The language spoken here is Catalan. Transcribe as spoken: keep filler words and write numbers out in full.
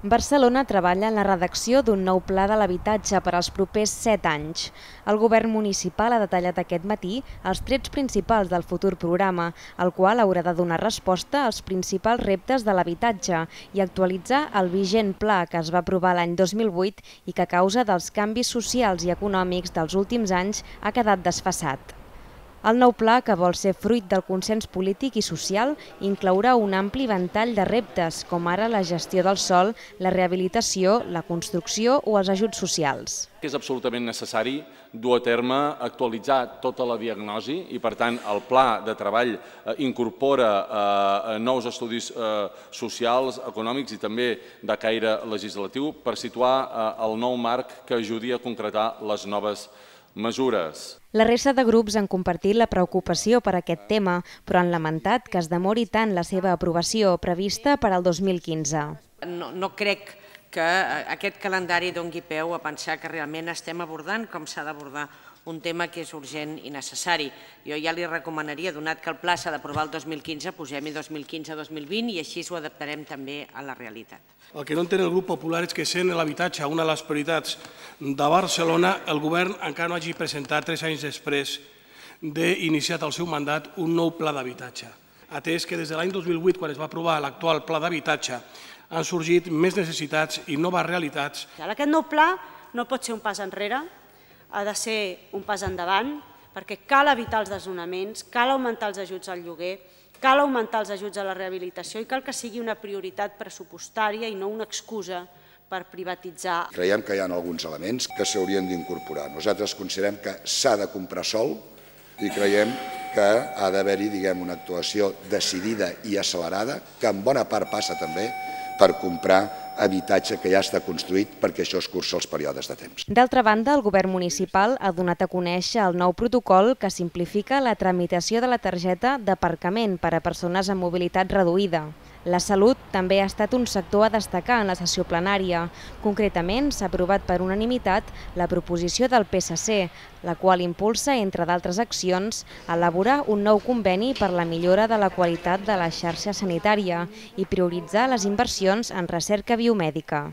Barcelona treballa en la redacció d'un nou pla de l'habitatge per als propers set anys. El govern municipal ha detallat aquest matí els trets principals del futur programa, el qual haurà de donar resposta als principals reptes de l'habitatge i actualitzar el vigent pla que es va aprovar l'any dos mil vuit i que a causa dels canvis socials i econòmics dels últims anys ha quedat desfasat. El nou pla, que vol ser fruit del consens polític i social, inclourà un ampli ventall de reptes, com ara la gestió del sòl, la rehabilitació, la construcció o els ajuts socials. És absolutament necessari dur a terme, actualitzar tota la diagnosi i, per tant, el pla de treball incorpora nous estudis socials, econòmics i també de caire legislatiu per situar el nou marc que ajudi a concretar les noves mesures. La resta de grups han compartit la preocupació per aquest tema, però han lamentat que es demori tant la seva aprovació prevista per al dos mil quinze. No, no crec que aquest calendari doni peu a pensar que realment estem abordant com s'ha d'abordar un tema que és urgent i necessari. Jo ja li recomanaria, donat que el pla s'ha d'aprovar el dos mil quinze, posem-hi dos mil quinze dos mil vint i així ho adaptarem també a la realitat. El que no entén el grup popular és que, sent l'habitatge una de les prioritats de Barcelona, el govern encara no hagi presentat, tres anys després d'iniciat el seu mandat, un nou pla d'habitatge. Atès que des de l'any dos mil vuit, quan es va aprovar l'actual pla d'habitatge, han sorgit més necessitats i noves realitats. Aquest nou pla no pot ser un pas enrere, ha de ser un pas endavant, perquè cal evitar els desnonaments, cal augmentar els ajuts al lloguer, cal augmentar els ajuts a la rehabilitació i cal que sigui una prioritat pressupostària i no una excusa per privatitzar. Creiem que hi ha alguns elements que s'haurien d'incorporar. Nosaltres considerem que s'ha de comprar sòl i creiem que ha d'haver-hi, diguem, una actuació decidida i accelerada, que en bona part passa també per comprar habitatge que ja està construït perquè això es cursa els períodes de temps. D'altra banda, el govern municipal ha donat a conèixer el nou protocol que simplifica la tramitació de la targeta d'aparcament per a persones amb mobilitat reduïda. La salut també ha estat un sector a destacar en la sessió plenària. Concretament, s'ha aprovat per unanimitat la proposició del P S C, la qual impulsa, entre d'altres accions, elaborar un nou conveni per la millora de la qualitat de la xarxa sanitària i prioritzar les inversions en recerca biomèdica.